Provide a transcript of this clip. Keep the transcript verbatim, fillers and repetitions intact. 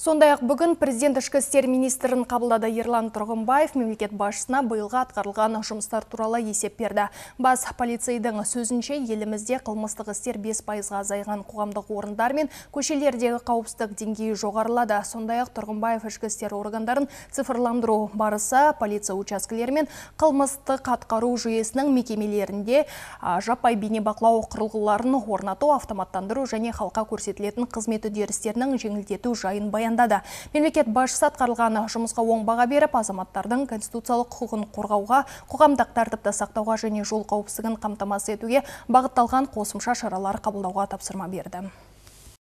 Сондай-ақ бүгін президент ішкі істер министрін қабылдады. Ерлан Тұрғынбаев мемлекет басшысына биылғы атқарылған жұмыстар туралы есеп берді. Бас полицейдің сөзінше, елімізде қылмыстық істер бес пайызға азайған, қоғамдық орындар мен көшелердегі қауіпсіздік деңгейі жоғарылады. Сондай-ақ Тұрғынбаев ішкі істер органдарын цифрландыру барысы полиция учаскелері мен қылмыстық атқару жүйесінің мекемелерінде жаппай бейнебақылау құрылғыларын орнату, автоматтандыру және халыққа көрсетілетін қызмет үдерістерінің жеңілдету жайын баяндады. Мемлекет басшысы атқарылған жұмысқа оң баға беріп, азаматтардың конституциялық құқығын қорғауға, қоғамдық тәртіпті сақтауға және жол қауіпсіздігін қамтамасыз етуге бағытталған қосымша шаралар қабылдауға тапсырма берді.